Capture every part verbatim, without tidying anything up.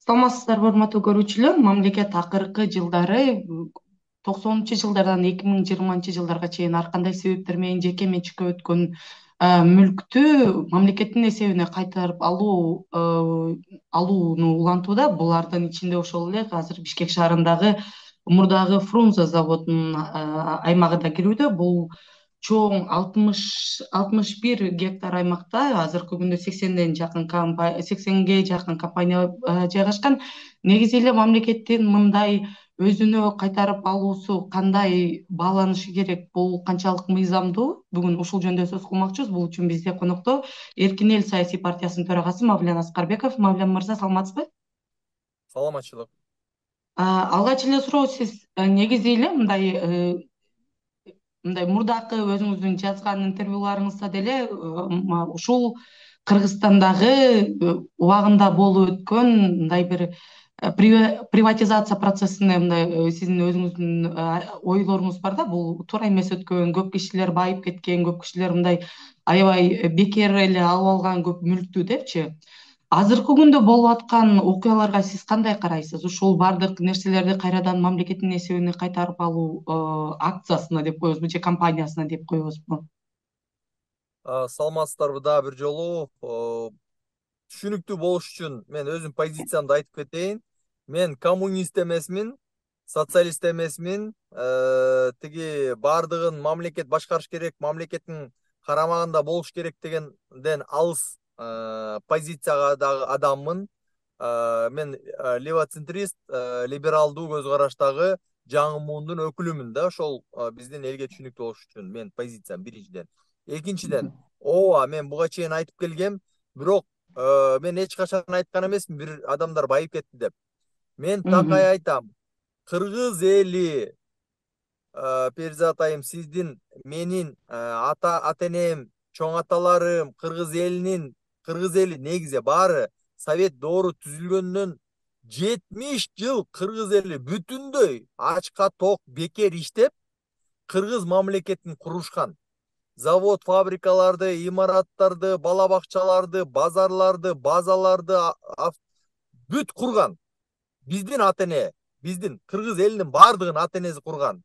Саламатсыздарбы, урматтуу көрүүчүлөр. Мамлекет акыркы жылдары токсонунчу жылдардан эки миң жыйырманчы жылдарга чейин ар кандай себептер менен жеке менчикке өткөн мүлктү мамлекеттин эсебине кайтарып алуу алууну улантууда. Булардын ичинде ошол эле азыр Бишкек шаарындагы мурдагы Фрунзе заводунун аймагы да кирүүдө. Бул чоң алтымыш алтымыш бир гектар аймакта азыркы күндө сексенден жакын сексенге жакын компания жайгашкан. Негизи эле мамлекеттин мындай өзүнө кайтарып алуусу кандай бааланышы керек, бул канчалык мыйзамдуу? Бүгүн ушул жөнүндө сөз кылмакчыбыз. Бул үчүн бизде конокто Эркин эл саясий партиясынын төрагасы Мавлен Аскарбеков. Мавлен мырза, саламатсызбы? Саламатчылык. Алгач эле суроо, сиз негизи эле мындай мындай мурдакы өзүңүздүн жазган интервьюларыңызда деле ушул Кыргызстандагы убагында болуп өткөн мындай бир приватизация процессине мындай сиздин өзүңүздүн ойлоруңуз бар да. Бул туура эмес өткөн, көп кишилер байып кеткен, көп кишилер мындай аябай бекер эле алып алган көп мүлктү депчи. Азыркы күндө болуп аткан окуяларга сиз кандай карайсыз? Ушул баардык нерселерди кайрадан мамлекеттин эсебине кайтарып алуу акциясына деп коебузбу же компаниясына деп коебузбу? Саламатсыздарбы дагы бир жолу. Түшүнүктүү болуш үчүн мен өзүм позициямды айтып кетейин. Мен коммунист эмесмин, социалист эмесмин. Тиги баардыгын мамлекет башкарыш керек, мамлекеттин карамагында болуш керек дегенден алыс позициядагы адаммын. Мен левоцентрист, либералдуу көз караштагы жаңы муундун өкүлүмүн да. Ошол биздин элге түшүнүктүү болуш үчүн мен позициям биринчиден. Экинчиден, ооба мен буга чейин айтып келгем, бирок мен эч качан айткан эмесмин бир адамдар байып кетти деп. Мен такай айтам. Кыргыз эли, Перизат айым, сиздин, менин ата ата энем, чоң аталарым, кыргыз элинин, кыргыз эли негизи баары Совет доору түзүлгөндөн жетимиш жыл кыргыз эли бүтүндөй ачка ток бекер иштеп, кыргыз мамлекетин курушкан. Завод, фабрикаларды, имараттарды, бала бакчаларды, базарларды, базаларды бүт курган. Биздин ата эне, биздин кыргыз элинин баардыгын ата энеси курган.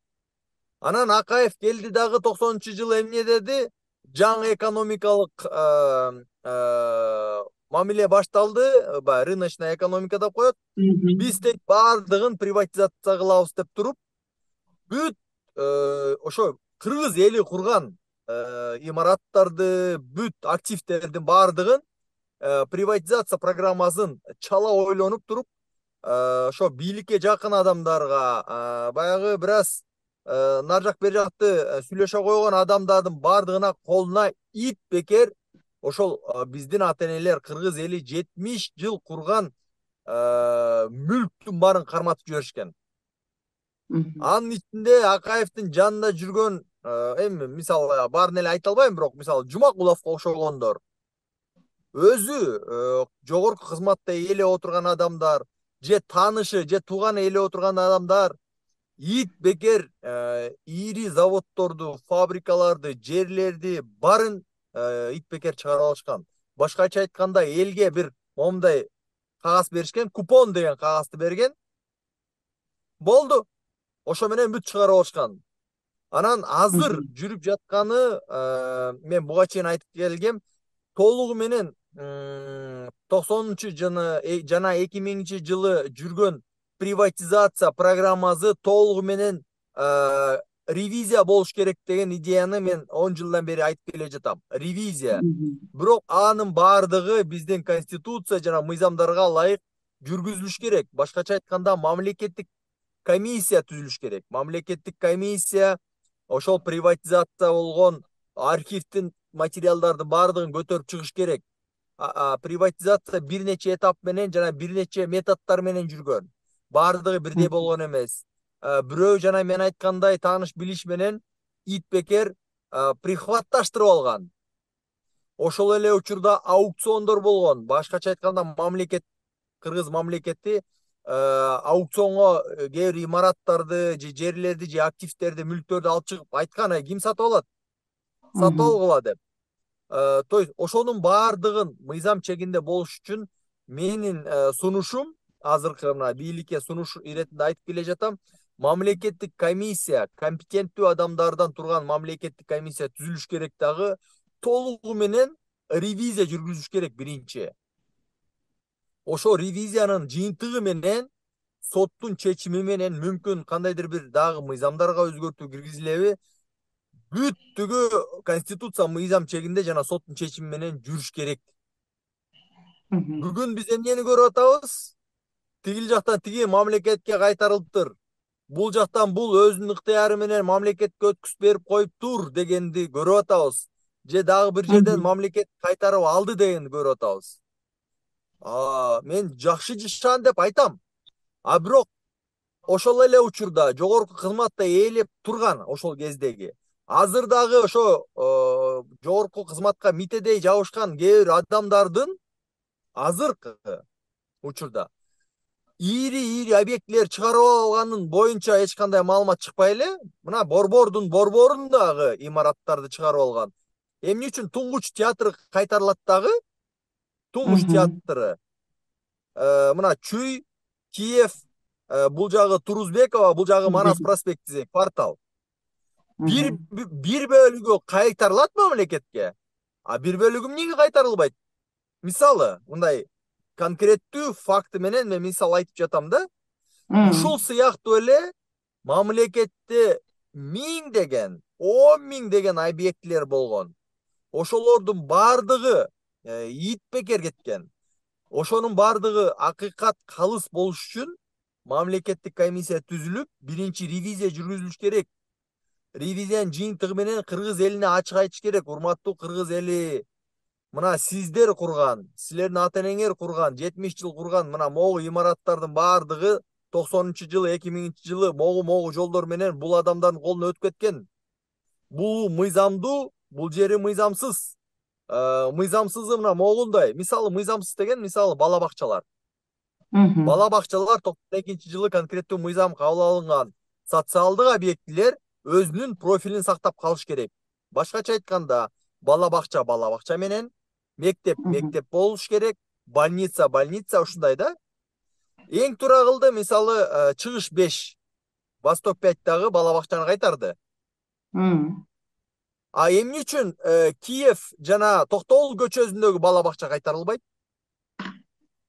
Анан Акаев келди дагы токсонунчу жылы эмне деди? Жаңы экономикалык мамиле башталды, рыночная экономика деп коет. Биз тек баардыгын приватизация кылабыз деп туруп, бүт ошо кыргыз эли курган имараттарды, бүт активдердин баардыгын приватизация программасын чала ойлонуп туруп, ошо бийликке жакын адамдарга, баягы бир аз нар жак бери жакты сүйлөшө койгон адамдардын баардыгына колуна ит бекер ошол биздин ата энелер, кыргыз эли жетимиш жыл курган мүлктүн баарын карматып жиберишкен. Анын ичинде Акаевдин жанында жүргөн, эми мисалы баарын эле айта албайм, бирок мисалы Жумакуловго окшогондор, өзү жогорку кызматта ээлеп отурган адамдар, же таанышы, же тууганы ээлеп отурган адамдар ит бекер ири заводдорду, фабрикаларды, жерлерди баарын ит бекер чыгарып алышкан. Башкача айтканда, элге бир момундай кагаз беришкен, купон деген кагазды берген. Болду. Ошо менен бүт чыгарып алышкан. Анан азыр жүрүп жатканы, мен буга чейин айтып келгем, толугу менен токсонунчу жана эки миңинчи жылы жүргөн приватизация программасы толугу менен ревизия болуш керек деген идеяны мен он жылдан бери айтып келе жатам. Ревизия. Бирок анын баардыгы биздин конституция жана мыйзамдарга ылайык жүргүзүлүш керек. Башкача айтканда, мамлекеттик комиссия түзүлүш керек. Мамлекеттик комиссия ошол приватизация болгон архивдин материалдардын баардыгын көтөрүп чыгыш керек. Приватизация бир нече этап менен жана бир нече методдор менен жүргөн. Баардыгы бирдей болгон эмес. Бирөө жана мен айткандай тааныш билиш менен ит бекер прихватташтырып алган. Ошол эле учурда аукциондор болгон. Башкача айтканда, мамлекет, кыргыз мамлекети аукционго кээ бир имараттарды, же жерлерди, же активдерди, мүлктөрдү алып чыгып айткан, ким сатып алат? Сатып алгыла деп. То есть ошонун баардыгын мыйзам чегинде болуш үчүн менин сунушум азыркы мына бийликке сунуш иретинде айтып келе жатам. Мамлекеттик комиссия, компетенттүү адамдардан турган мамлекеттик комиссия түзүлүш керек дагы, толугу менен ревизия жүргүзүш керек биринчи. Ошо ревизиянын жыйынтыгы менен соттун чечими менен мүмкүн кандайдыр бир дагы мыйзамдарга өзгөртүү киргизилеби, бүттүгү конституция мыйзам чегинде жана соттун чечими менен жүрүш керек. Бүгүн биз эмнени көрүп атабыз? Тигил жактан тиги мамлекетке кайтарылыптыр. Бул жактан бул өзүнүн ыктыяры менен мамлекетке өткүзүп берип коюптур дегенди көрүп атабыз. Же дагы бир жерден мамлекет кайтарып алды дегенди көрүп атабыз. А, мен жакшы жашаган деп айтам. А бирок ошол эле учурда жогорку кызматта ээлеп турган ошол кездеги, азыр дагы ошо жогорку кызматка митедей жабышкан кээ бир адамдардын азыркы учурда ири ири объектилер чыгарып алганын боюнча эч кандай маалымат чыкпай эле, мына борбордун борборундагы имараттарды чыгарып алган. Эмне үчүн Туңгуч театры кайтарылат дагы? Туңгуч театры мына Чүй, Киев, бул жагы Турузбекова, бул жагы Манас проспекти квартал. Бир бир бөлүгү кайтарылат мамлекетке. А бир бөлүгү эмнеге кайтарылбайт? Мисалы, мындай конкреттүү факты менен мен мисал айтып жатам да. Ушул сыяктуу эле мамлекетте миңдеген, он миңдеген объектилер болгон. Ошолордун бардыгы ит бекер кеткен. Ошонун бардыгы акыйкат калыс болуш үчүн мамлекеттик комиссия түзүлүп, биринчи ревизия жүргүзүлүш керек. Ревизиянын жыйынтыгы менен кыргыз элине ачык айтыш керек. Урматтуу кыргыз эли, мына сиздер курган, силердин ата-энеңер курган, жетимиш жыл курган мына могу имараттардын бардыгы токсонунчу жылы, эки миңинчи жылы могу-могу жолдор менен бул адамдардын колуна өтүп кеткен. Бул мыйзамдуу, бул жери мыйзамсыз. Мыйзамсызы мына могундай. Мисалы мыйзамсыз деген мисалы бала бакчалар. Бала бакчалар токсон экинчи жылы конкреттүү мыйзам кабыл алынган. Социалдык объектилер өзүнүн профилин сактап калыш керек. Башкача айтканда, бала бакча бала бакча менен, мектеп мектеп болуш керек, больница больница ушундай да. Эң туура кылды, мисалы Чыгыш беш, Восток пяттагы бала бакчаны кайтарды. А эмне үчүн Киев жана Токтогул көчөсүндөгү бала бакча кайтарылбайт?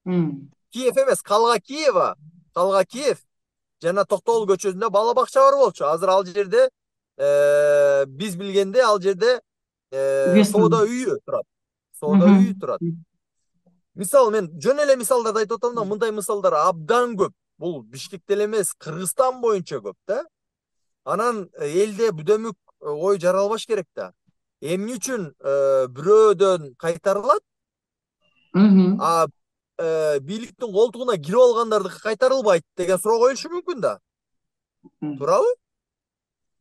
Киев эмес, Калга Киева, Калга Киев жана Токтогул көчөсүндө бала бакча бар болчу. Азыр ал жерде биз билгенде ал жерде соода үйү турат. Соода үйү турат. Мисалы мен жөн эле мисалдарды айтып атам да, мындай мисалдар абдан көп. Бул Бишкекте эле эмес, Кыргызстан боюнча көп да. Анан элде бүдөмүк ой жаралбаш керек да. Эмне үчүн бирөөдөн кайтарылат, а бийликтин колтугуна кирип алгандардыкы кайтарылбайт деген суроо коюлушу мүмкүн да. Туурабы?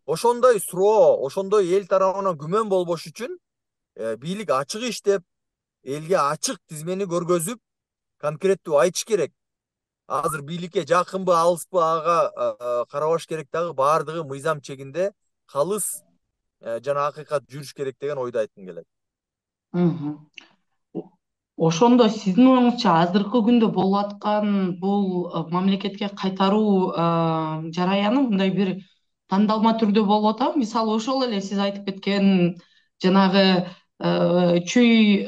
Ошондой суроо, ошондой эл тарабынан күмөн болбош үчүн бийлик ачык иштеп, элге ачык тизмени көргөзүп, конкреттүү айтыш керек. Азыр бийликке жакынбы, алыспы ага карабаш керек дагы, бардыгы мыйзам чегинде калыс жана акыйкат жүрүш керек деген ойду айткым келет. Ошондо сиздин оюңузча азыркы күндө болуп аткан бул мамлекетке кайтаруу жараяны мындай бир тандалма түрдө болуп атабы? Мисалы ошол эле сиз айтып кеткен жанагы Чүй,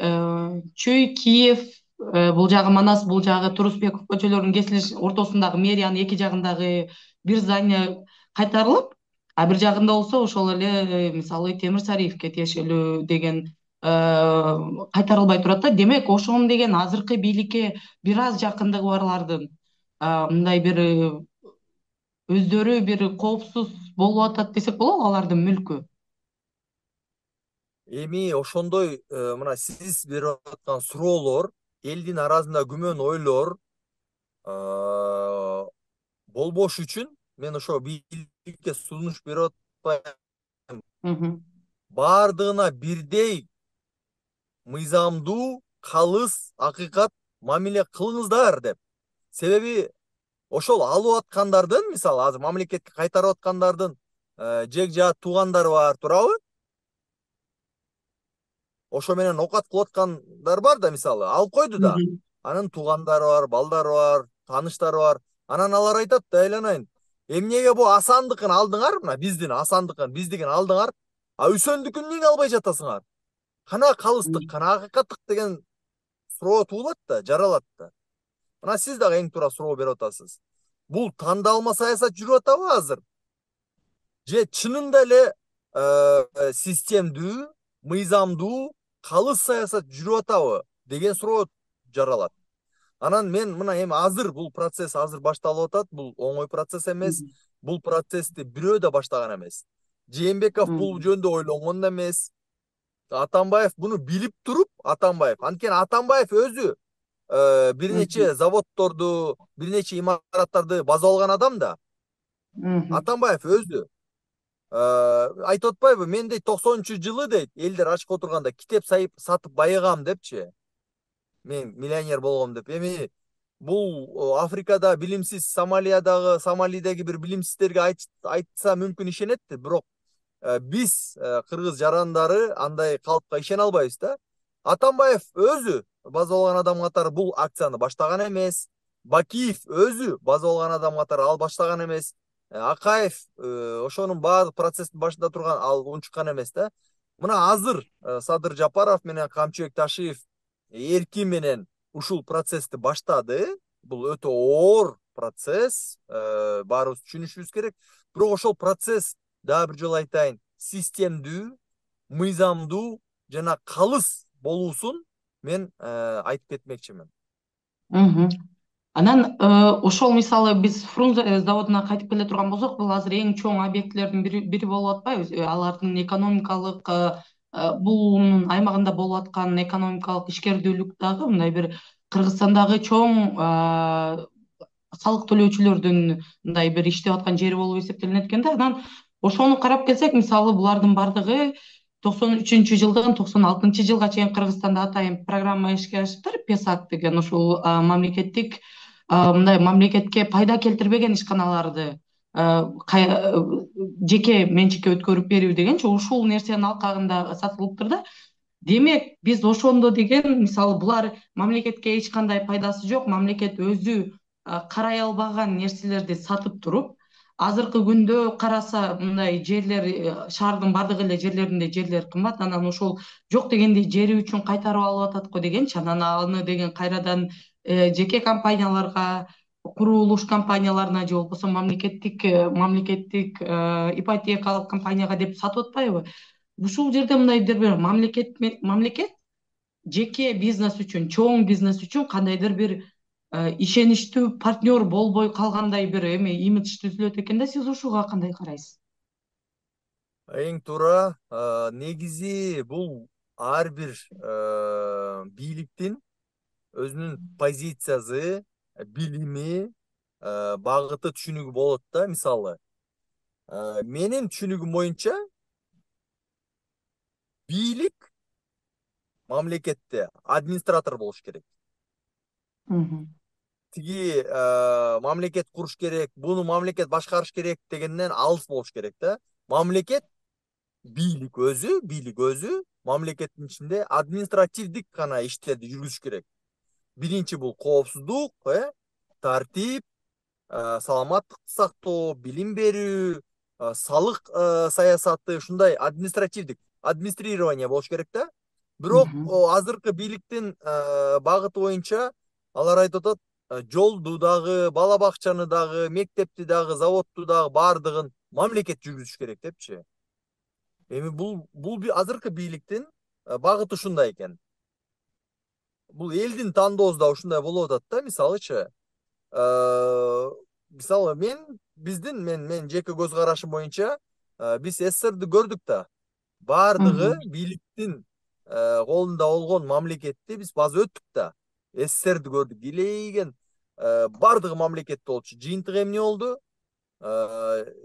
Чүй, Киев, бул жагы Манас, бул жагы Турузбеков көчөлөрүнүн кесилиш ортосундагы мэриянын эки жагындагы бир здание кайтарылып, а бир жагында болсо ошол эле мисалы Темир Сариевке тиешелүү деген кайтарылбай турат да. Демек, ошону деген азыркы бийликке бир аз жакындыгы барлардын мындай бир өздөрү бир коопсуз болуп атат десек болобу, алардын мүлкү? Эми ошондой мына сиз берип аткан суроолор, элдин арасында күмөн ойлор болбош үчүн мен ошо бийликке сунуш берип атпайм. Бардыгына бирдей мыйзамдуу, калыс, акыйкат мамиле кылыңыздар деп. Себеби ошол алып аткандардын, мисалы азыр мамлекетке кайтарып аткандардын жек жаат туугандары бар, туурабы? Ошо менен окат кылып аткандар бар да, мисалы алып койду да. Анын туугандары бар, балдары бар, тааныштары бар. Анан алар айтат да, айланайын, эмнеге бу Асандыкын алдыңар, мына биздин Асандыкын, биздикин алдыңар, а Үсөндүкүн эмнеге албай жатасыңар? Кана калыстык, кана акыйкаттык деген суроо туулат да, жаралат да. Мына сиз дагы эң туура суроо берип атасыз. Бул тандалма саясат жүрүп атабы азыр? Же чынында эле системдүү, мыйзамдуу, калыс саясат жүрүп атабы деген суроо жаралат. Анан мен мына эми азыр бул процесс азыр башталып атат. Бул оңой процесс эмес. Бул процессти бирөө да баштаган эмес. Жээнбеков бул жөнүндө ойлонгон да эмес. Атамбаев буну билип туруп, Атамбаев, анткени Атамбаев өзү бир нече заводдорду, бир нече имараттарды база алган адам да. Атамбаев өзү айтып атпайбы, мен дейт токсонунчу жылы дейт элдер ачка отурганда китеп сатып байыгам депчи. Мен миллионер болгом деп. Эми бул Африкада билимсиз, Сомалиядагы, Сомалидеги бир билимсиздерге айтса мүмкүн ишенет, бирок биз кыргыз жарандары андай калыпка ишене албайбыз да. Атамбаев өзү база алган адам катары бул акцияны баштаган эмес. Бакиев өзү база алган адам катары ал баштаган эмес. Акаев ошонун баардык процесстин башында турган, ал унчуккан эмес да. Мына азыр Садыр Жапаров менен Камчыбек Ташиев эркин менен ушул процессти баштады. Бул өтө оор процесс, баарыбыз түшүнүшүбүз керек. Бирок ошол процесс, дагы бир жолу айтайын, системдүү, мыйзамдуу жана калыс болуусун мен айтып кетмекчимин. Анан ошол мисалы биз Фрунзе заводуна кайтып келе турган болсок, бул азыр эң чоң объектилердин бири болуп атпайбы? Алардын экономикалык, бул аймагында болуп аткан экономикалык ишкердүүлүк дагы мындай бир Кыргызстандагы чоң салык төлөөчүлөрдүн мындай бир иштеп аткан жери болуп эсептелинет экен да. Анан ошону карап келсек, мисалы булардын бардыгы токсон үчүнчү жылдан токсон алтынчы жылга чейин Кыргызстанда атайын программа ишке ашыптыр. ПЕСАК деген ушул мамлекеттик мындай мамлекетке пайда келтирбеген ишканаларды жеке менчикке өткөрүп берүү дегенчи ушул нерсенин алкагында сатылыптыр да. Демек, биз ошондо деген, мисалы, булар мамлекетке эч кандай пайдасы жок, мамлекет өзү карай албаган нерселерди сатып туруп, азыркы күндө караса мындай жерлер, шаардын бардык эле жерлеринде жерлер кымбат, анан ошол жок дегенде жери үчүн кайтарып алып атат го дегенчи, анан аны деген кайрадан жеке компанияларга, курулуш компанияларына же болбосо мамлекеттик мамлекеттик ипотекалык компанияга деп сатып атпайбы? Ушул жерде мындайдыр бир мамлекет мамлекет жеке бизнес үчүн, чоң бизнес үчүн кандайдыр бир ишеничтүү партнер болбой калгандай бир эме имидж түзүлөт экен да. Сиз ушуга кандай карайсыз? Эң туура. Негизи бул ар бир бийликтин өзүнүн позициясы, билими, багыты, түшүнүгү болот да. Мисалы, менин түшүнүгүм боюнча бийлик мамлекетте администратор болуш керек. Тиги мамлекет куруш керек, буну мамлекет башкарыш керек дегенден алыс болуш керек да. Мамлекет, бийлик өзү, бийлик өзү мамлекеттин ичинде административдик гана иштерди жүргүзүш керек. Биринчи бул коопсуздук, тартип, саламаттыкты сактоо, билим берүү, салык саясаты, ушундай административдик, администрирование болуш керек да. Бирок азыркы бийликтин багыты боюнча алар айтып атат, жолду дагы, бала бакчаны дагы, мектепти дагы, заводду дагы баардыгын мамлекет жүргүзүш керек депчи. Эми бул бул азыркы бийликтин багыты ушундай экен. Бул элдин тандоосу да ушундай болуп атат да. Мисалычы, мисалы мен биздин мен мен жеке көз карашым боюнча биз СССРди көрдүк да. Баардыгы бийликтин колунда болгон мамлекетти биз база өттүк да. СССРди көрдүк, илейген баардыгы мамлекетте болчу. Жыйынтыгы эмне болду?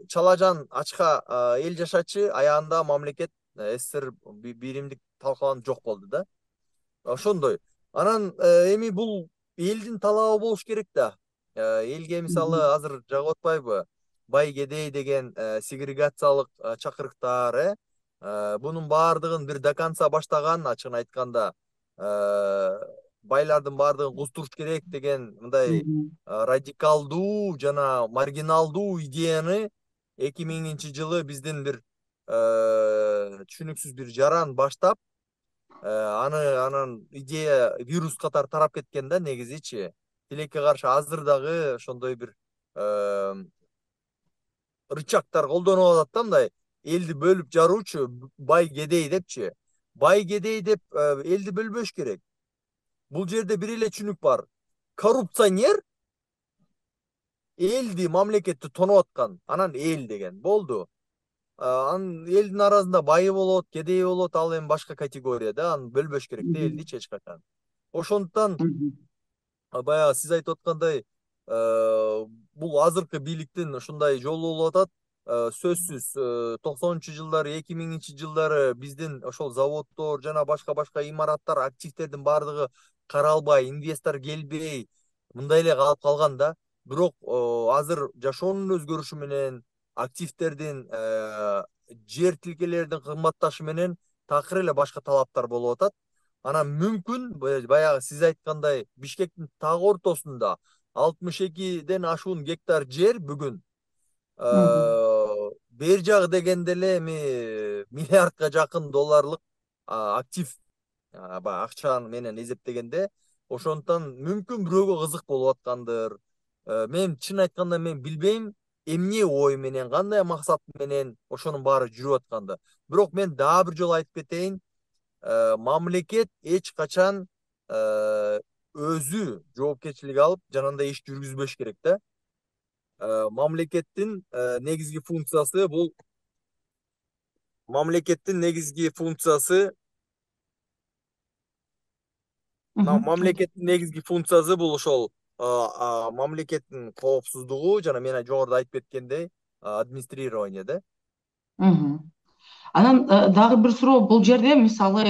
Чалажан ачка эл жашачы, аягында мамлекет СССР биримдик талкаланып жок болду да. Ошондой. Анан эми бул элдин талабы болуш керек да. Элге мисалы азыр жагып атпайбы? Бай кедей деген сегрегациялык чакырыктар, бунун баардыгын бир до конца баштаган, ачыгын айтканда, байлардын баардыгын кустуруш керек деген мындай Мгм. радикалдуу жана маргиналдуу идеяны эки миңинчи жылы биздин бир түшүнүксүз бир жаран баштап, аны анан идея вирус катары тарап кеткен да негизичи. Тилекке каршы азыр дагы ошондой бир рычагтар колдонуп атат да, мындай элди бөлүп жаруучу, бай кедей депчи. Бай кедей деп элди бөлбөш керек. Бул жерде бир эле түшүнүк бар. Коррупционер элди, мамлекетти тонуп аткан, анан эл деген болду. Анын элдин арасында байы болот, кедейи болот, ал эми башка категория да, аны бөлбөш керек да Мгм. элдичи эч качан. Ошондуктан Мгм. баягы сиз айтып аткандай, бул азыркы бийликтин ушундай жолу болуп атат. Сөзсүз токсонунчу жылдары, эки миңинчи жылдары биздин ошол заводдор жана башка башка имараттар, активдердин баардыгы каралбай, инвестор келбей, мындай эле калып калган да. Бирок азыр жашоонун өзгөрүшү менен, активдердин, жер тилкелердин кымбатташы менен такыр эле башка талаптар болуп атат. Анан мүмкүн баягы сиз айткандай Бишкектин так ортосунда алтымыш экиден ашуун гектар жер бүгүн Мгм. бер жагы дегенде эле эми миллиардка жакын долларлык актив, баягы акча менен эсептегенде. Ошондуктан мүмкүн бирөөгө кызык болуп аткандыр. Мен чын айтканда мен билбейм эмне ой менен, кандай максат менен ошонун баары жүрүп атканды. Бирок мен дагы бир жолу айтып кетейин, мамлекет эч качан өзү жоопкерчилик алып жанагындай иш жүргүзбөш керек да. Мамлекеттин негизги функциясы бул мамлекеттин негизги функциясы Мгм. мамлекеттин негизги функциясы бул ошол мамлекеттин коопсуздугу жана мен жогоруда айтып кеткендей администрирование да. Мгм. Анан дагы бир суроо, бул жерде мисалы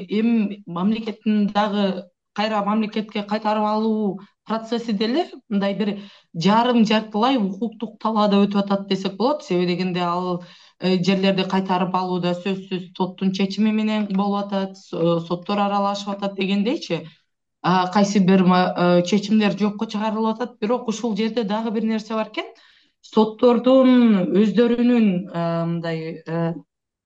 эми мамлекеттин дагы кайра мамлекетке кайтарып алуу процесси деле мындай бир жарым жартылай укуктук талаада өтүп атат десек болот. Себеби дегенде ал жерлерди кайтарып алууда сөзсүз соттун чечими менен болуп атат, соттор аралашып атат дегендейчи. Кайсы бир чечимдер жокко чыгарылып атат. Бирок ушул жерде дагы бир нерсе бар экен. Соттордун өздөрүнүн мындай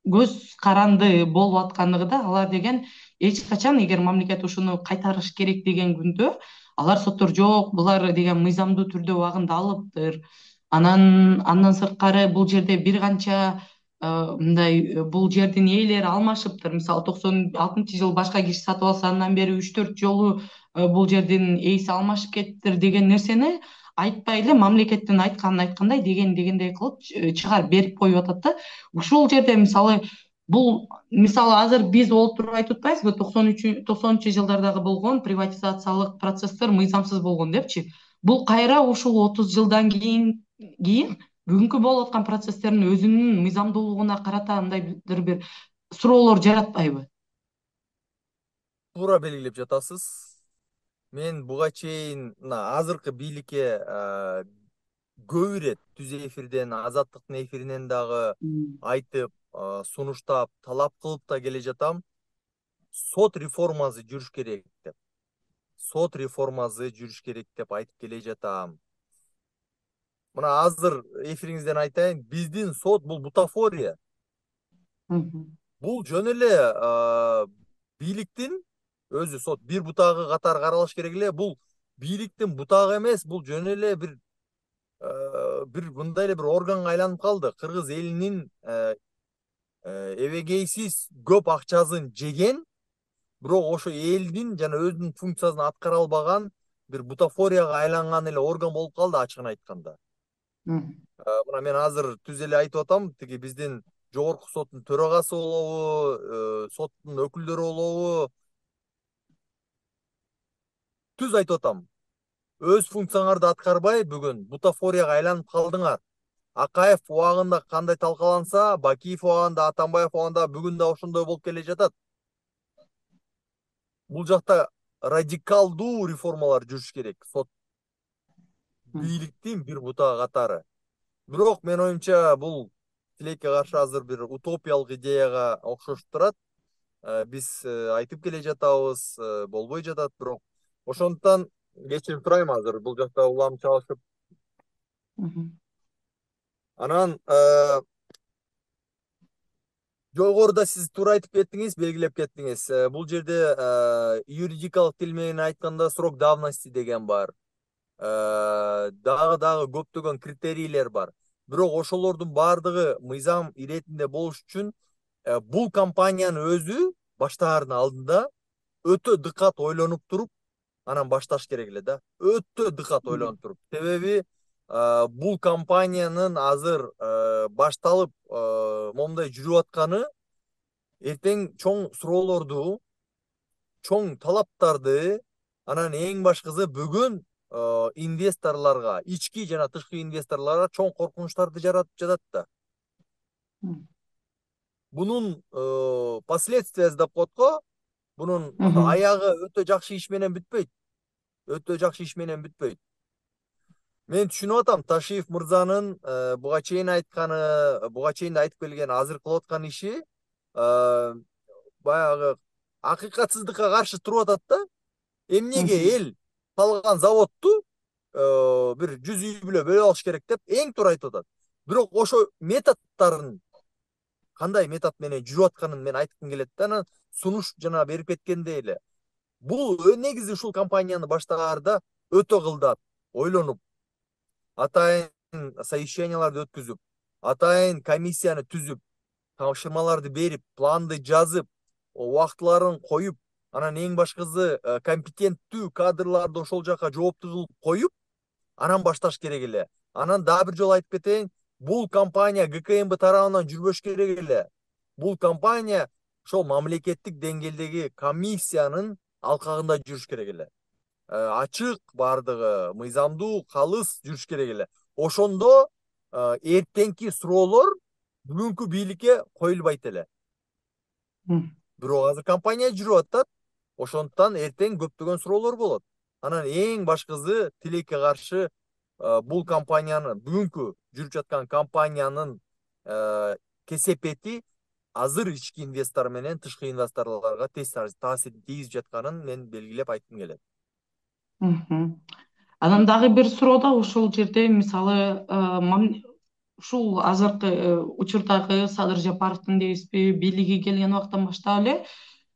көз каранды болуп аткандыгы да, алар деген эч качан эгер мамлекет ушуну кайтарыш керек деген күндө алар соттор жок, булар деген мыйзамдуу түрдө убагында алыптыр. Анан андан сырткары бул жерде бир канча мындай бул жердин ээлери алмашыптыр. Мисалы токсон алтынчы жылы башка киши сатып алса, андан бери үч төрт жолу бул жердин ээси алмашып кетиптир деген нерсени айтпай эле мамлекеттин айтканын айткандай, деген дегендей кылып чыгарып берип коюп атат да. Ушул жерде мисалы бул мисалы азыр биз олтуруп айтып атпайбызбы, токсон үч токсонунчу жылдардагы болгон приватизациялык процесстер мыйзамсыз болгон депчи. Бул кайра ушул отуз жылдан кийин кийин бүгүнкү болуп аткан процесстердин өзүнүн мыйзамдуулугуна карата мындайдыр бир суроолор жаратпайбы? Туура белгилеп жатасыз. Мен буга чейин мына азыркы бийликке көп ирет түз эфирден, Азаттыктын эфиринен дагы айтып, сунуштап, талап кылып да келе жатам. Сот реформасы жүрүш керек деп. Сот реформасы жүрүш керек деп айтып келе жатам. Мына азыр эфириңизден айтайын, биздин сот бул бутафория. Бул жөн эле бийликтин өзү сот бир бутагы катары каралыш керек эле. Бул бийликтин бутагы эмес, бул жөн эле бир бир мындай эле бир органга айланып калды. Кыргыз элинин эбегейсиз көп акчасын жеген, бирок ошо элдин жана өзүнүн функциясын аткара албаган бир бутафорияга айланган эле орган болуп калды, ачыгын айтканда. Мына мен азыр түз эле айтып атам, тиги биздин жогорку соттун төрагасы болобу, соттун өкүлдөрү болобу, түз айтып атам. Өз функцияңарды аткарбай бүгүн бутафорияга айланып калдыңар. Акаев убагында кандай талкаланса, Бакиев убагында, Атамбаев убагында бүгүн да ошондой болуп келе жатат. Бул жакта радикалдуу реформалар жүрүш керек, сот бийликтин бир бутагы катары. Бирок менин оюмча бул тилекке каршы азыр бир утопиялык идеяга окшошуп турат. Биз айтып келе жатабыз, болбой жатат, бирок Ошондуктан кечирим сурайм азыр бул жакта улам чалышып. Мгм. Анан э, жогоруда сиз туура айтып кеттиңиз, белгилеп кеттиңиз. Э, Бул жерде э, юридикалык тил менен айтканда срок давности деген бар. Э, Дагы дагы көптөгөн критерийлер бар. Бирок ошолордун баардыгы мыйзам иретинде болуш үчүн э, бул компаниянын өзү баштаардын алдында өтө дыкат ойлонуп туруп анан башташ керек эле да. Өтө дыкат ойлонуп туруп. Себеби э, бул компаниянын азыр э, башталып э, момундай жүрүп атканы эртең чоң суроолорду, чоң талаптарды, анан эң башкысы бүгүн э, инвесторлорго, ички жана тышкы инвесторлорго чоң коркунучтарды жаратып жатат да. Мгм. Бунун э, последствиясы деп коет го. Бунун Мгм. аягы өтө жакшы иш менен бүтпөйт. Өтө жакшы иш менен бүтпөйт. Мен түшүнүп атам Ташиев мырзанын э, буга чейин айтканы, буга чейин да айтып келген, азыр кылып аткан иши э, баягы акыйкатсыздыкка каршы туруп атат да. Эмнеге Мгм. эл салган заводду э, бир жүз үй бүлө бөлүп алыш керек деп эң туура айтып атат. Бирок ошо методдорун кандай метод менен жүрүп атканын мен айткым келет да. Анан сунуш жана берип кеткендей эле. Бул негизи ушул компанияны баштаарда өтө кылдат, ойлонуп, атайын совещанияларды өткүзүп, атайын комиссияны түзүп, тапшырмаларды берип, планды жазып, убактыларын коюп, анан эң башкысы э, компетенттүү кадрларды ошол жака жоопту кылып коюп, анан башташ керек эле. Анан дагы бир жолу айтып кетейин, бул компания ГКМБ тарабынан жүрбөш керек эле. Бул компания ошол мамлекеттик деңгээлдеги комиссиянын алкагында жүрүш керек эле. Э, ачык, баардыгы мыйзамдуу, калыс жүрүш керек эле. Ошондо э, эртеңки суроолор бүгүнкү бийликке коюлбайт эле. Мгм. Бирок азыр компания жүрүп атат. Ошондуктан эртең көптөгөн суроолор болот. Анан эң башкысы тилекке каршы э, бул компаниянын, бүгүнкү жүрүп жаткан компаниянын э, кесепети азыр ички инвестор менен тышкы инвесторлорго терс таасирин тийгизип жатканын мен белгилеп айткым келет. Мгм. Анан дагы бир суроо да ушул жерде, мисалы, э, мам- ушул азыркы э, учурдагы Садыр Жапаровдун дейбизби, бийлиги келген убактан баштап эле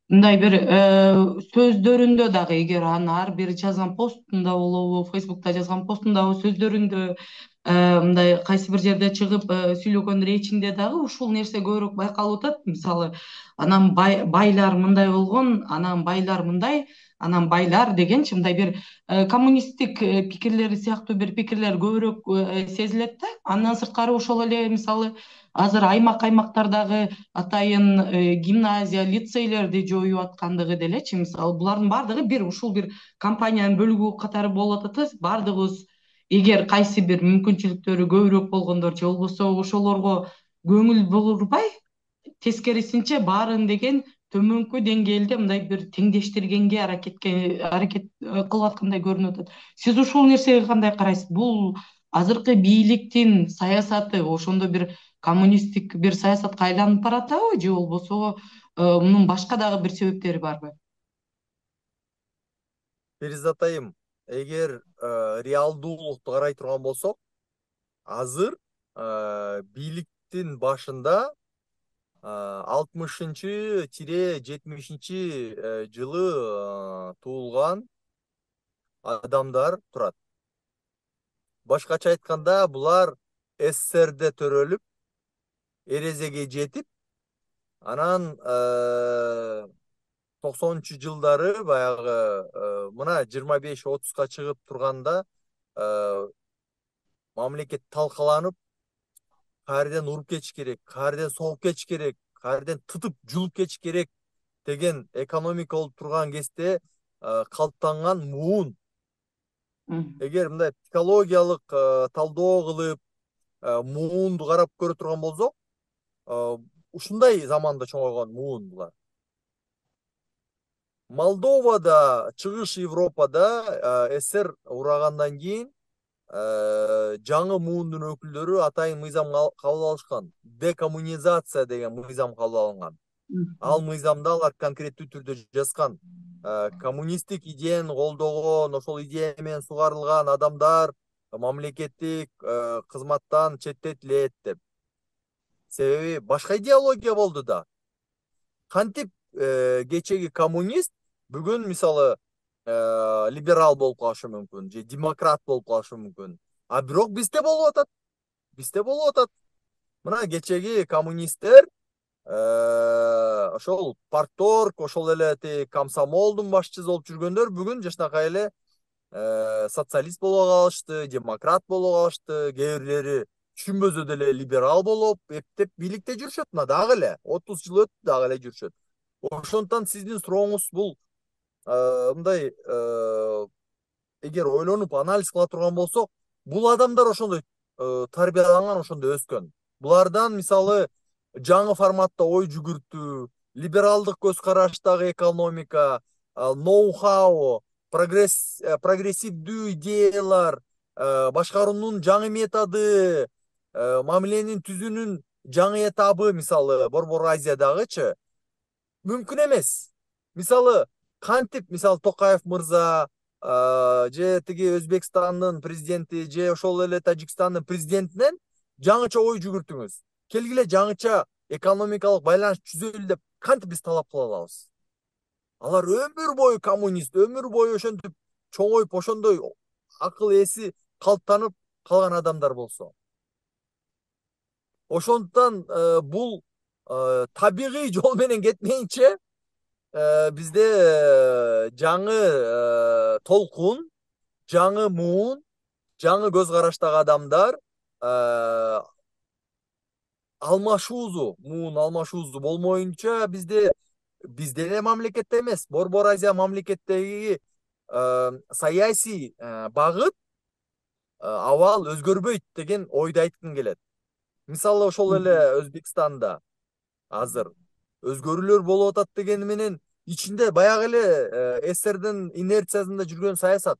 мындай бир э, сөздөрүндө дагы, эгер анын ар бир жазган постунда болобу, Фейсбукта жазган постундабы, сөздөрүндө э, мындай кайсы бир жерде чыгып э, сүйлөгөн речинде дагы ушул нерсе көбүрөөк байкалып атат. Мисалы, анан бай- байлар мындай болгон, анан байлар мындай, анан байлар дегенчи мындай бир э, коммунисттик э, пикирлери сыяктуу бир пикирлер көбүрөөк э, сезилет да. Андан сырткары ошол эле мисалы азыр аймак аймактардагы атайын э, гимназия, лицейлерди жоюп аткандыгы делечи, мисалы булардын баардыгы бир ушул бир компаниянын бөлүгү катары болуп атат да. Баардыгыбыз эгер кайсы бир мүмкүнчүлүктөрү көбүрөөк болгондор же болбосо ошолорго көңүл бурбай, тескерисинче баарын деген төмөнкү деңгээлде мындай бир теңдештиргенге аракетке аракет э, кылып аткандай көрүнүп атат. Сиз ушул нерсеге кандай карайсыз? Бул азыркы бийликтин саясаты ошондо бир коммунисттик бир саясатка айланып баратабы, же болбосо э, мунун башка дагы бир себептери барбы? Перизат айым, эгер э, реалдуулукту карай турган болсок, азыр э, бийликтин башында алтымышынчы жетимишинчи э, жылы э, туулган адамдар турат. Башкача айтканда, булар СССРде төрөлүп, эрезеге жетип, анан э, токсонунчу жылдары баягы э, мына жыйырма беш отузга чыгып турганда э, мамлекет талкаланып, каерден уруп кетиш керек, каерден согуп кетиш керек, каерден тытып жулуп кетиш керек деген экономика болуп турган кезде э, калыптанган муун. Мгм. Эгер мындай психологиялык э, талдоо кылып, э, муунду карап көрө турган болсок, э, ушундай заманда чоңойгон муун булар. Молдовада, чыгыш Европада э, СССР урагандан кийин э, жаңы муундун өкүлдөрү атайын мыйзам кабыл алышкан. Декоммунизация деген мыйзам кабыл алынган. Ал Мгм. мыйзамда алар конкреттүү түрдө жазган. коммунисттик идеяны колдогон, ошол идея менен сугарылган адамдар мамлекеттик кызматтан четтетилет деп. Себеби башка идеология болду да. Кантип кечеги коммунист бүгүн мисалы либерал болуп калышы мүмкүн же демократ болуп калышы мүмкүн. А бирок бизде болуп атат. Бизде болуп атат. Мына кечеги коммунисттер ошол парторг, ошол эле тиги комсомолдун башчысы болуп жүргөндөр бүгүн жакшынакай эле социалист боло калышты, демократ боло калышты, кээ бирлери түшүнбөсө деле либерал болуп, эптеп бийликте жүрүшөт. Мына дагы эле отуз жыл өттү, дагы эле жүрүшөт. Ошондуктан сиздин сурооңуз бул мындай, эгер ойлонуп анализ кыла турган болсок, бул адамдар ошондой тарбияланган, ошондой өскөн. Булардан мисалы жаңы форматта ой жүгүртүү, либералдык көз караштагы экономика, ноу-хау, прогрессивдүү идеялар, башкаруунун жаңы методу, мамиленин түзүүнүн жаңы этабы мисалы Борбор Азиядагычы мүмкүн эмес. Мисалы кантип мисалы Токаев мырза же тиги Өзбекстандын президенти же ошол эле Тажикстандын президентинен жаңыча ой жүгүртүңүз. Келгиле жаңыча экономикалык байланыш түзөлү деп кантип биз талап кыла алабыз? Алар өмүр бою коммунист, өмүр бою ошентип чоңоюп ошондой акыл эси калыптанып калган адамдар болсо. Ошондуктан бул табигый жол менен кетмейинче бизде жаңы толкун, жаңы муун, жаңы көз караштагы адамдар алмашуусу, муун алмашуусу болмоюнча бизде бизде эле мамлекетте эмес, Борбор Азия мамлекеттеги саясий багыт абал өзгөрбөйт деген ойду айткым келет. Мисалы ошол эле Өзбекстанда азыр өзгөрүүлөр болуп атат дегени менен ичинде баягы эле СССРдин инерциясында жүргөн саясат.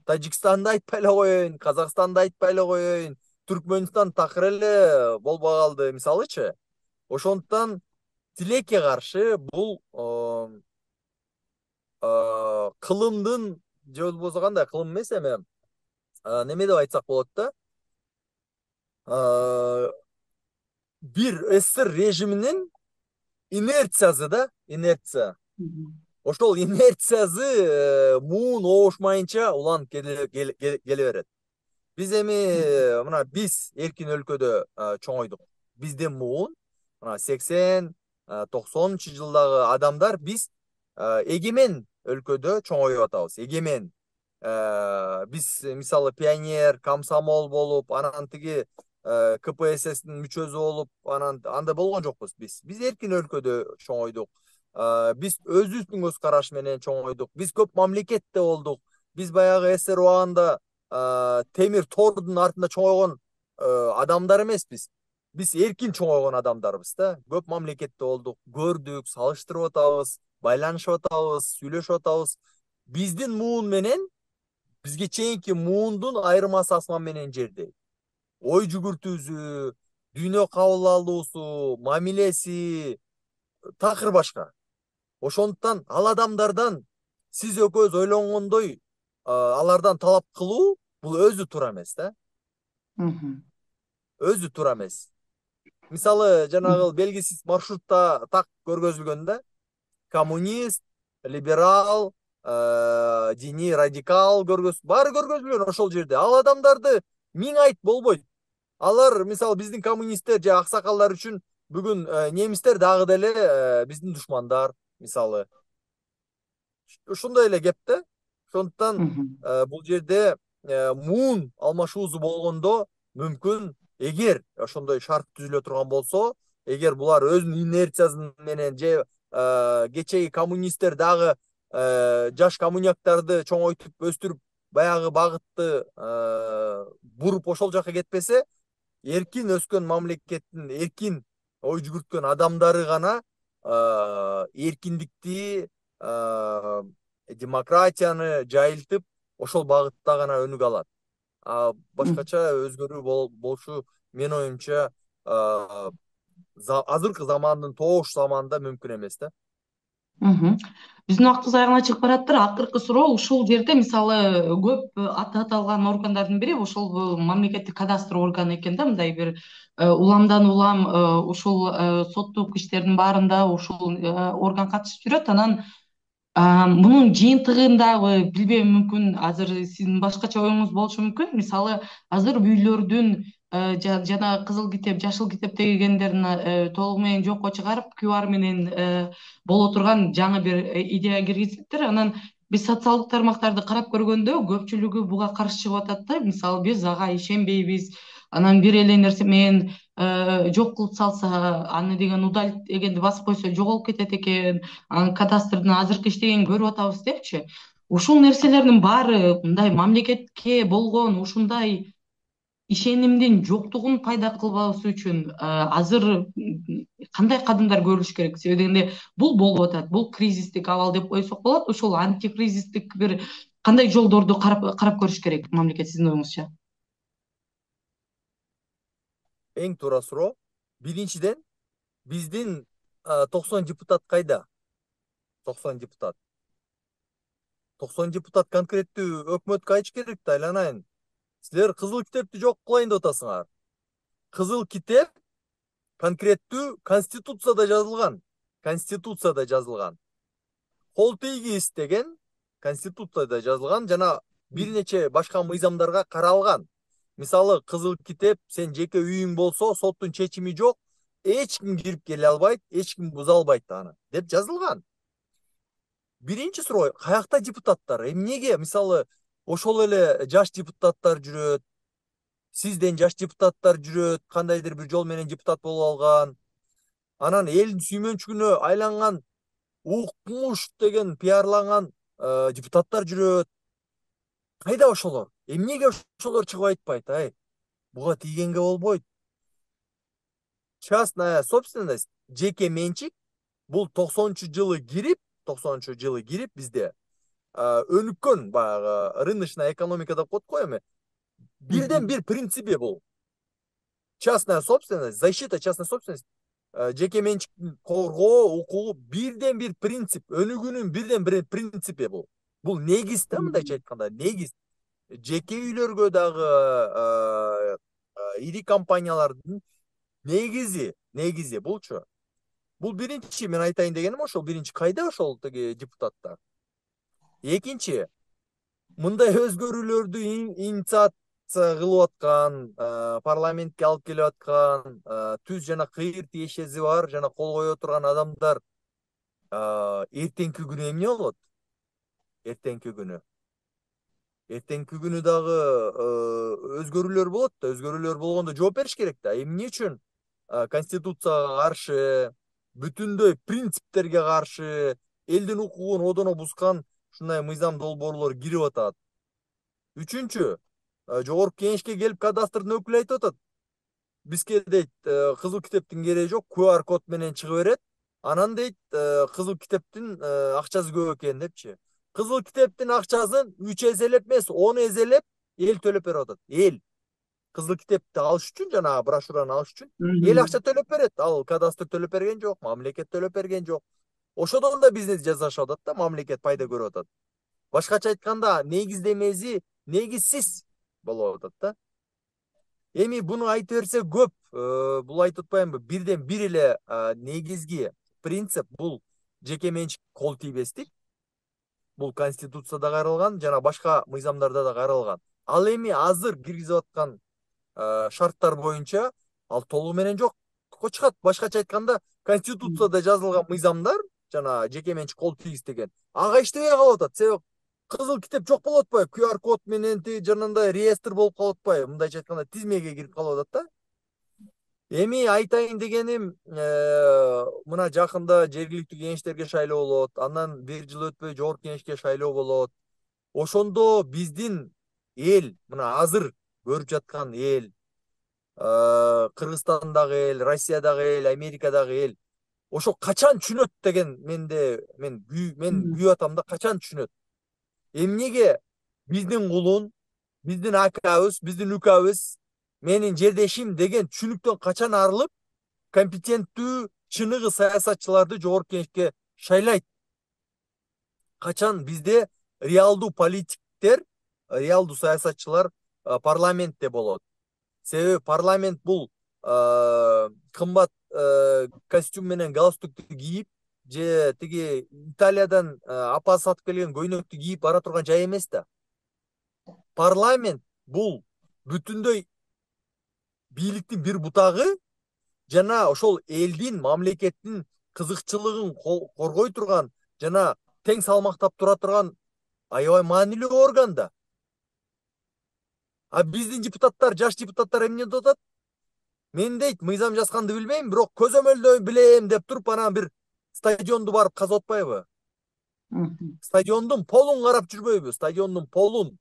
Тажикстанды айтпай эле коеюн, Казакстанды айтпай эле коеюн, Түркмөнстан такыр эле болбой калды мисалычы. Ошондуктан тилекке каршы бул кылымдын же болбосо кандай кылым эмес эми неме деп айтсак болот да, бир СССР режиминин инерциясы да, инерция. Ошол инерциясы муун оошмайынча уланып келе берет. Биз эми мына биз эркин өлкөдө чоңойдук. Бизде муун мына сексен токсонунчу жылдагы адамдар биз эгемен өлкөдө чоңоюп атабыз. Эгемен. Биз мисалы пионер, комсомол болуп, анан тиги КПССтин мүчөсү болуп, анан андай болгон жокпуз биз. Биз эркин өлкөдө чоңойдук. Биз өзүбүздүн көз караш менен чоңойдук. Биз көп мамлекетте болдук. Биз баягы СССР убагында темир тордун артында чоңойгон адамдар эмеспиз. Биз эркин чоңойгон адамдарбыз да. Көп мамлекетте болдук, көрдүк, салыштырып атабыз, байланышып атабыз, сүйлөшүп атабыз. Биздин муун менен бизге чейинки муундун айырмасы асман менен жердей. Ой жүгүртүүсү, дүйнө кабыл алуусу, мамилеси такыр башка. Ошондуктан ал адамдардан сиз экөөбүз ойлонгондой алардан талап кылуу бул өзү туура эмес да. Өзү туура эмес. Мисалы жанагы белгисиз маршрутта так көргөзүлгөн да. Коммунист, либерал, диний радикал көргөз, баары көргөзүлгөн ошол жерде. Ал адамдарды миң айт болбойт. Алар мисалы биздин коммунисттер же аксакалдар үчүн бүгүн немистер дагы деле биздин душмандар мисалы. Ушундай эле кеп да. Ошондуктан бул жерде муун алмашуусу болгондо мүмкүн эгер ошондой шарт түзүлө турган болсо, эгер булар өзүнүн инерциясы менен же кечеги коммунисттер дагы жаш коммуняктарды чоңойтуп өстүрүп баягы багытты буруп ошол жака кетпесе, эркин өскөн мамлекеттин эркин ой жүгүрткөн адамдары гана эркиндикти, демократияны жайылтып ошол багытта гана өнүгө алат. Башкача өзгөрүү болушу менин оюмча азыркы замандын тоош заманында мүмкүн эмес да. Мгм. Биздин убактыбыз аягына чыгып бараттыр. Акыркы суроо ушул жерде мисалы көп э, аты аталган органдардын бири ошол э, мамлекеттик кадастр органы экен да, мындай бир э, уламдан улам э, ушул э, соттук иштердин баарында ушул э, орган катышып жүрөт. Анан а, мунун жыйынтыгындагы билбейм, мүмкүн азыр сиздин башкача оюңуз болушу мүмкүн. Мисалы азыр үйлөрдүн э, жа- жана кызыл китеп, жашыл китеп дегендерин э, толугу менен жокко чыгарып q r менен э, боло турган жаңы бир э, идея киргизиптир. Анан биз социалдык тармактарды карап көргөндө көпчүлүгү буга каршы чыгып атат да. Мисалы биз ага ишенбейбиз. Анан бир эле нерсе менен э, жок кылып салса, аны деген удалить дегенди басып койсо жоголуп кетет экен, анан кадастрдын азыркы иштегенин көрүп атабыз депчи. Ушул нерселердин баары мындай мамлекетке болгон ушундай ишенимдин жоктугун пайда кылбабыз үчүн э, азыр м, кандай кадамдар көрүлүш керек? Себеби дегенде бул болуп атат, бул кризистик абал деп койсок болот. Ушул антикризистик бир кандай жолдорду карап карап көрүш керек мамлекет сиздин оюңузча? Эң туура суроо. Биринчиден, биздин а, токсон депутат кайда? токсон депутат. токсон депутат конкреттүү өкмөткө айтыш керек да, айланайын. Силер кызыл китепти жок кылайын деп атасыңар. Кызыл китеп конкреттүү конституцияда жазылган. Конституцияда жазылган. Кол тийгиз деген конституцияда жазылган жана бир нече башка мыйзамдарга каралган. Мисалы, кызыл китеп сен жеке үйүң болсо, соттун чечими жок, эч ким кирип келе албайт, эч ким буза албайт аны деп жазылган. Биринчи суроо, каякта депутаттар? Эмнеге мисалы ошол эле жаш депутаттар жүрөт, сизден жаш депутаттар жүрөт, кандайдыр бир жол менен депутат болуп алган. Анан элдин сүймөнчүгүнө айланган укмуш деген пиарланган э, депутаттар жүрөт. Кайда ошолор? Эмнеге ошолор чыгып айтпайт? Ай, буга тийгенге болбойт. Частная собственность, жеке менчик, бул токсонунчу жылы кирип, токсонунчу жылы кирип бизде а, өнүккөн баягы рыночная экономика деп коет го эми. Бирден бир принципи бул. Частная собственность, защита частной собственности, а, жеке менчиктин коргоо укугу бирден бир принцип, өнүгүүнүн бирден бир принципи бул. Бул негиз да, мындайча айтканда, негиз. Жеке үйлөргө дагы а, а, ири компаниялардын негизи, негизи булчу. Бул биринчи мен айтайын дегеним ошол. Биринчи, кайда ошол тиги депутаттар? Экинчи, мындай өзгөрүүлөрдү инициация кылып аткан, парламентке алып келип аткан, түз жана кыйыр тиешеси бар жана кол кое турган адамдар эртеңки күнү эмне болот? Эртеңки күнү эртеңки күнү дагы өзгөрүүлөр болот да, өзгөрүүлөр болгондо жооп бериш керек да. Эмне үчүн конституцияга каршы, бүтүндөй принциптерге каршы, элдин укугун одоно бузган ушундай мыйзам долбоорлор кирип атат? Үчүнчү, жогорку кеңешке келип кадастрдын өкүлү айтып атат. Бизге дейт, кызыл китептин кереги жок, q r код менен чыга берет. Анан дейт, кызыл китептин акчасы көп экен депчи. Кызыл китептин акчасын үч эселеп эмес, он эселеп эл төлөп берип атат. Эл кызыл китепти алыш үчүн, жана брошюраны алыш үчүн эл акча төлөп берет. Ал кадастр төлөп берген жок, мамлекет төлөп берген жок. Ошодон да бизнес жасашып атат да, мамлекет пайда көрүп атат. Башкача айтканда, негиздемеси негизсиз болуп атат да. Эми буну айтып берсе көп, бул айтып атпаймынбы? Бирден бир эле негизги принцип бул жеке менчик кол тийбестик. Бул конституцияда каралган жана башка мыйзамдарда да каралган. Ал эми азыр киргизип аткан шарттар боюнча ал толугу менен жокко чыгат. Башкача айтканда, конституцияда жазылган мыйзамдар жана жеке менчик кол тийгиз деген ага иштебей калып атат. Себеби кызыл китеп жок болуп атпайбы? q r код менен жанагындай реестр болуп калып атпайбы? Мындайча айтканда, тизмеге кирип калып атат да. Эми айтайын дегеним, мына жакында жергиликтүү кеңештерге шайлоо болот, андан бир жыл өтпөй жогорку кеңешке шайлоо болот. Ошондо биздин эл, мына азыр көрүп жаткан эл, Кыргызстандагы эл, Россиядагы эл, Америкадагы эл ошо качан түшүнөт деген менде мен мен күйүп атам да, качан түшүнөт? Эмнеге биздин кулун, биздин акабыз, биздин укабыз, менин жердешим деген түшүнүктөн качан арылып, компетенттүү, чыныгы саясатчыларды жогорку кеңешке шайлайт? Качан бизде реалдуу политиктер, реалдуу саясатчылар парламентте болот. Себеби парламент бул кымбат костюм менен галстукту кийип же тиги Италиядан апа сатып келген көйнөктү кийип бара турган жай эмес да. Парламент бул бүтүндөй бийликтин бир бутагы жана ошол элдин, мамлекеттин кызыкчылыгын коргой турган жана тең салмактап тура турган аябай маанилүү орган да. А биздин депутаттар, жаш депутаттар эмне деп атат? Мен дейт, мыйзам жазганды билбейм, бирок көзөмөлдөө билем деп туруп анан бир стадионду барып казып атпайбы? Стадиондун полун карап жүрбөйбү? Стадиондун полун.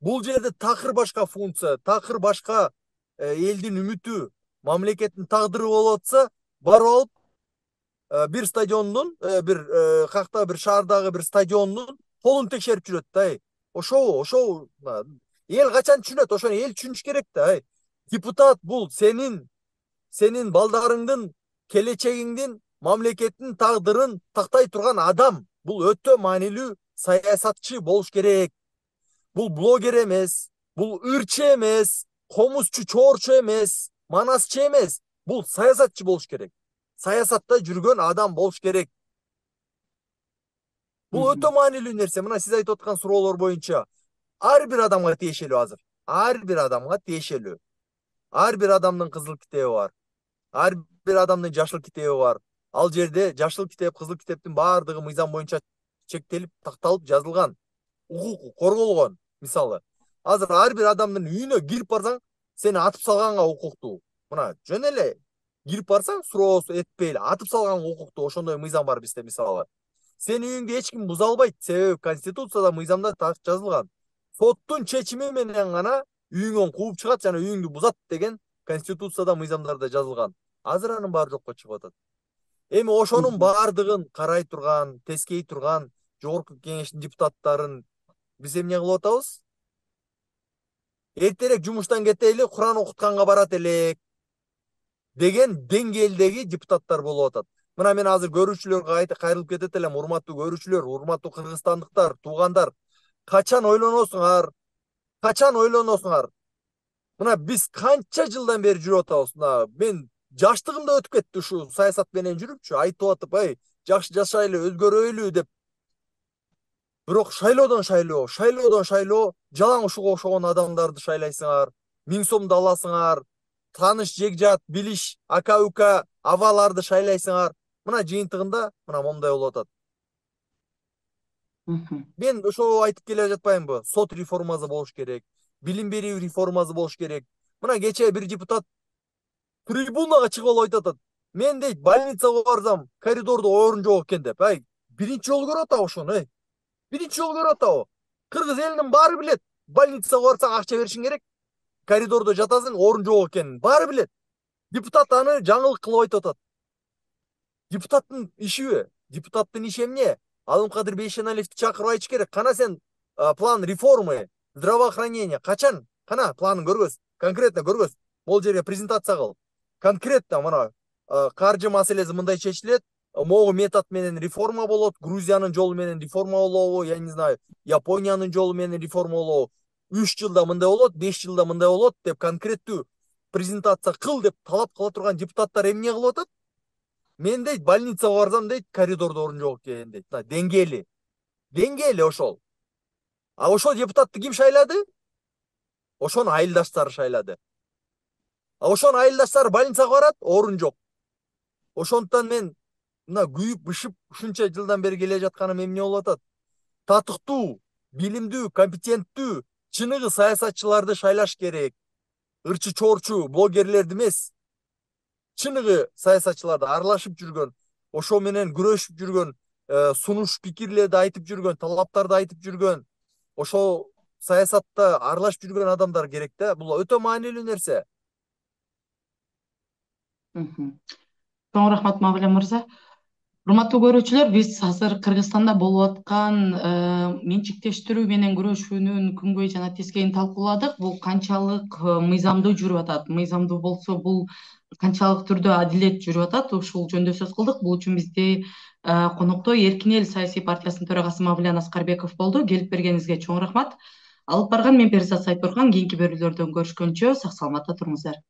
Бул жерде такыр башка функция, такыр башка элдин үмүтү, мамлекеттин тагдыры болуп атса, барып алып бир стадиондун, бир какта бир шаардагы бир стадиондун полун текшерип жүрөт да. Ошо, ошо эл качан түшүнөт? Ошону эл түшүнүш керек да. Депутат бул сенин сенин балдарыңдын, келечегиңдин, мамлекеттин тагдырын тактай турган адам. Бул өтө маанилүү саясатчы болуш керек. Бул блогер эмес, бул ырчы эмес, комузчу чоорчу эмес, манасчы эмес. Бул саясатчы болуш керек. Саясатта жүргөн адам болуш керек. Бул өтө маанилүү нерсе. Мына сиз айтып аткан суроолор боюнча ар бир адамга тиешелүү азыр. Ар бир адамга тиешелүү. Ар бир адамдын кызыл китеби бар. Ар бир адамдын жашыл китеби бар. Ал жерде жашыл китеп, кызыл китептин баардыгы мыйзам боюнча чектелип, такталып, жазылган. Укук корголгон. Мисалы, азыр ар бир адамдын үйүнө кирип барсаң, сени атып салганга укуктуу. Мына жөн эле кирип барсаң, суроо этпей эле атып салганга укуктуу. Ошондой мыйзам бар бизде мисалы. Сени үйүңдү эч ким буза албайт, себеби Конституцияда мыйзамда жазылган. Соттун чечими менен гана үйүңөн кууп чыгат жана үйүңдү бузат деген Конституцияда мыйзамдарда жазылган. Азыр анын баары жокко чыгып атат. Эми ошонун баардыгын карай турган, тескей турган жогорку кеңештин депутаттарын биз эмне кылып атабыз? Эртерээк жумуштан кетели, Куран окутканга барат элек деген деңгээлдеги депутаттар болуп атат. Мына мен азыр көрүүчүлөргө кайрылып кетет элем. Урматтуу көрүүчүлөр, урматтуу кыргызстандыктар, туугандар, качан ойлоносуңар? Качан ойлоносуңар? Мына биз канча жылдан бери жүрүп атабыз. Мына мен жаштыгым да өтүп кетти ушу саясат менен жүрүпчү, айтып атып, ай, жакшы жашайлы, өзгөрөйлү деп. Бирок шайлоодон шайлоо, шайлоодон шайлоо, жалаң ушуга окшогон адамдарды шайлайсыңар, миң сомду аласыңар, тааныш, жегжат, билиш, ака-ука, абаларды шайлайсыңар. Мына жыйынтыгында мына момундай болуп атат. Мен ошо айтып келе жатпаймынбы? Сот реформасы болуш керек, билим берүү реформасы болуш керек. Мына кечээ бир депутат трибунага чыгып алып айтып атат. Мен дейт, больницага барсам, коридордо орун жок экен деп. Ай, биринчи жолу көрүп атабы ошону, ай? Биринчи жолу көрүп атабы? Кыргыз элинин баары билет. Больницага барсаң акча беришиң керек. Коридордо жатасың, орун жок экенин баары билет. Депутат аны жаңылык кылып айтып атат. Депутаттын ишиби? Депутаттын иши эмне? Алымкадыр Бейшеналиевди чакырып айтыш керек. Кана сен план реформы, здравоохранения качан? Кана планын көргөз. Конкретно көргөз. Бул жерге презентация кыл. Конкретно мына каржы маселеси мындай чечилет. Могу метод менен реформа болот, Грузиянын жолу менен реформа болобу, я не знаю, Япониянын жолу менен реформа болобу, үч жылда мындай болот, беш жылда мындай болот деп конкреттүү презентация кыл деп талап кыла турган депутаттар эмне кылып атат? Мен дейт, больницага барсам дейт, коридордо орун жок экен дейт. Деңгээли. Деңгээли ошол. А ошол депутатты ким шайлады? Ошонун айылдаштары шайлады. А ошонун айылдаштары больницага барат, орун жок. Ошондуктан мен мына күйүп бышып ушунча жылдан бери келе жатканым эмне болуп атат? Татыктуу, билимдүү, компетенттүү, чыныгы саясатчыларды шайлаш керек. Ырчы чоорчу блогерлерди эмес. Чыныгы саясатчыларды аралашып жүргөн, ошо менен күрөшүп жүргөн, сунуш пикирлерди айтып жүргөн, талаптарды айтып жүргөн, ошо саясатта аралашып жүргөн адамдар керек да. Бул өтө маанилүү нерсе. Чоң рахмат Мавлен мырза. Урматтуу көрүүчүлөр, биз азыр Кыргызстанда болуп аткан менчиктештирүү менен күрөшүүнүн күнгөй жана тескейин талкууладык. Бул канчалык мыйзамдуу жүрүп атат, мыйзамдуу болсо бул канчалык түрдө адилет жүрүп атат, ушул жөнүндө сөз кылдык. Бул үчүн бизди Конокто Эркин эл саясий партиясынын төрагасы Мавлян Аскарбеков болду. Келип бергениңизге чоң рахмат. Алып барган мен Перизат Сайпурган. Кийинки берүүлөрдөн көрүшкөнчө сак саламатта туруңуздар.